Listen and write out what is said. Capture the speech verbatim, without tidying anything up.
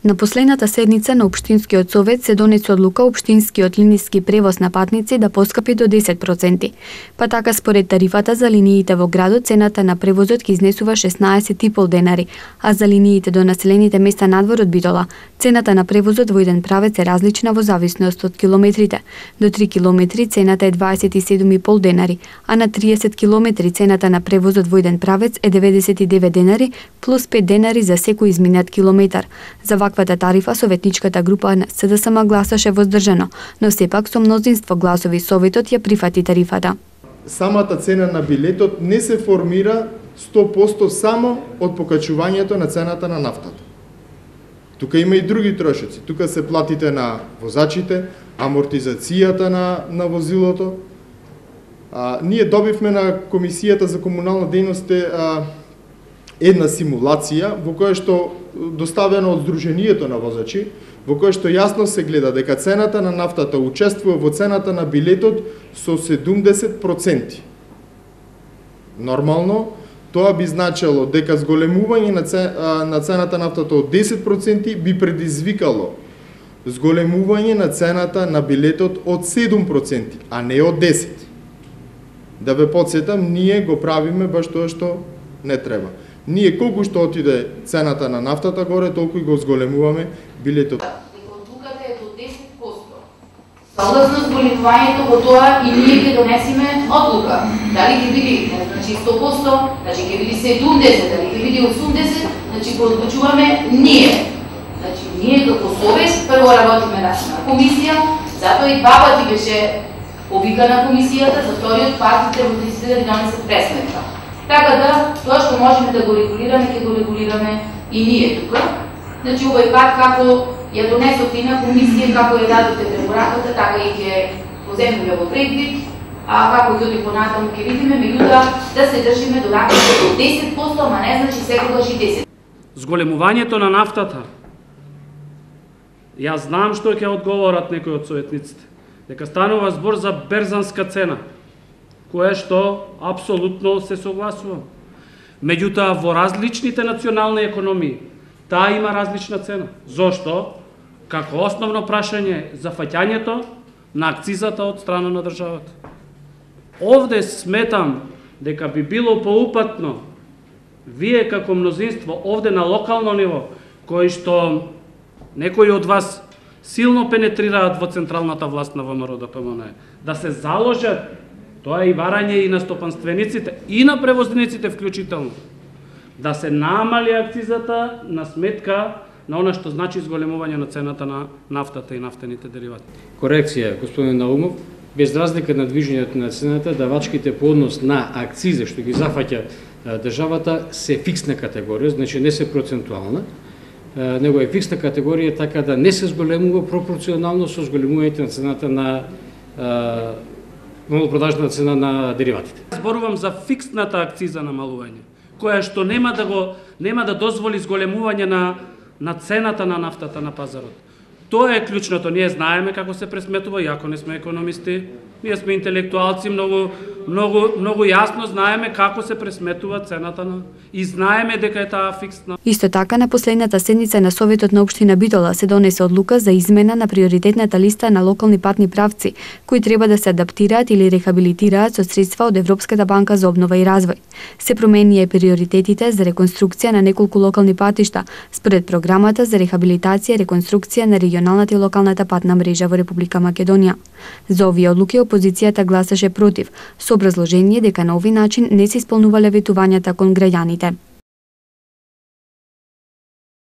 На последната седница на Општинскиот совет се донесе одлука општинскиот линиски превоз на патници да поскапи до десет проценти. Па така според тарифата за линиите во градот цената на превозот ќе изнесува шеснаесет и пол денари, а за линиите до населените места надвор од Битола цената на превозот во еден правец е различна во зависност од километрите. До три километри цената е дваесет и седум и пол денари, а на триесет километри цената на превозот во еден правец е деветдесет и девет денари плюс пет денари за секој изминат километар. За ваквата тарифа советничката група на С Д С М гласаше воздржано, но сепак со мнозинство гласови советот ја прифати тарифата. Самата цена на билетот не се формира сто проценти само од покачувањето на цената на нафтата. Тука има и други трошоци. Тука се платите на возачите, амортизацијата на, на возилото. А, ние добивме на Комисијата за комунална дејност а, една симулација во која што доставена од Сдруженијето на возачи, во која што јасно се гледа дека цената на нафтата учествува во цената на билетот со седумдесет проценти. Нормално, тоа би значело дека зголемување на цената на нафтата од десет проценти би предизвикало зголемување на цената на билетот од седум проценти, а не од десет. Да ве потсетам, ние го правиме баш тоа што не треба. Ние колку што отиде цената на нафтата горе, толку и го зголемуваме билетот. Одлуката е до десет проценти. Согласно зголемувањето во тоа и ние ќе донесеме одлука. Дали ќе биде значи сто проценти, значи ќе биде седумдесет, дали ќе биде осумдесет, значи го одлучуваме ние. Значи ние како совест прво работиме на комисија, затоа и два пати беше повикана комисијата, за вториот пат превозниците да ви донесат пресметка. Така да, тоа што можеме да го регулираме, ќе го регулираме и ние тука. Значи, овој пат, како ја донесовте и на комисија, како ја дадовте препораката, така и ќе поземеме во предвид, а како ќе оди понатаму ќе видиме, меѓутоа да се држиме до рамките до десет проценти, ама не значи секогаш и десет проценти. Зголемувањето на нафтата. Јас знам што ќе одговорат некои од советниците, дека станува збор за берзанска цена, кое што апсолутно се согласувам. Меѓутоа, во различните национални економии, таа има различна цена. Зошто? Како основно прашање за фаќањето на акцизата од страна на државата. Овде сметам дека би било поупатно вие како мнозинство овде на локално ниво, кои што некои од вас силно пенетрираат во централната власт на Во М Р Д П М Н, да се заложат. Тоа е и барање и на стопанствениците, и на превозниците вклучително. Да се намали акцизата на сметка на она што значи зголемување на цената на нафтата и нафтените деривати. Корекција, господин Наумов, без разлика на движењето на цената, давачките по однос на акциза што ги зафаќа државата се фиксна категорија, значи не се процентуална, него е фиксна категорија, така да не се зголемува пропорционално со зголемувањето на цената на малопродажна цена на дериватите. Зборувам за фиксната акциза намалување, која што нема да го нема да дозволи зголемување на на цената на нафтата на пазарот. Тоа е клучното. Ние знаеме како се пресметува, иако не сме економисти, ние сме интелектуалци, многу многу многу јасно знаеме како се пресметува цената на и знаеме дека е таа фиксна. Исто така на последната седница на Советот на општина Битола се донесе одлука за измена на приоритетната листа на локални патни правци кои треба да се адаптираат или рехабилитираат со средства од Европската банка за обнова и развој. Се променија приоритетите за реконструкција на неколку локални патишта според програмата за рехабилитација и реконструкција на регионалната и локалната патна мрежа во Република Македонија. За овие одлуки опозицијата гласаше против, со образложение дека на овој начин не се исполнувале ветувањата кон граѓаните.